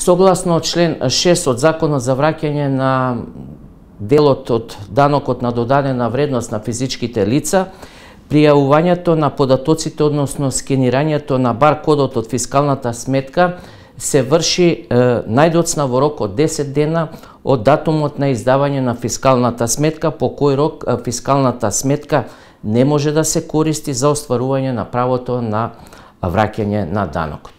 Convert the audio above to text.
Согласно член 6 од Законот за враќање на делот од данокот на додадена вредност на физичките лица, пријавувањето на податоците, односно скенирањето на баркодот од фискалната сметка се врши најдоцна во рок од 10 дена од датумот на издавање на фискалната сметка, по кој рок фискалната сметка не може да се користи за остварување на правото на враќање на данокот.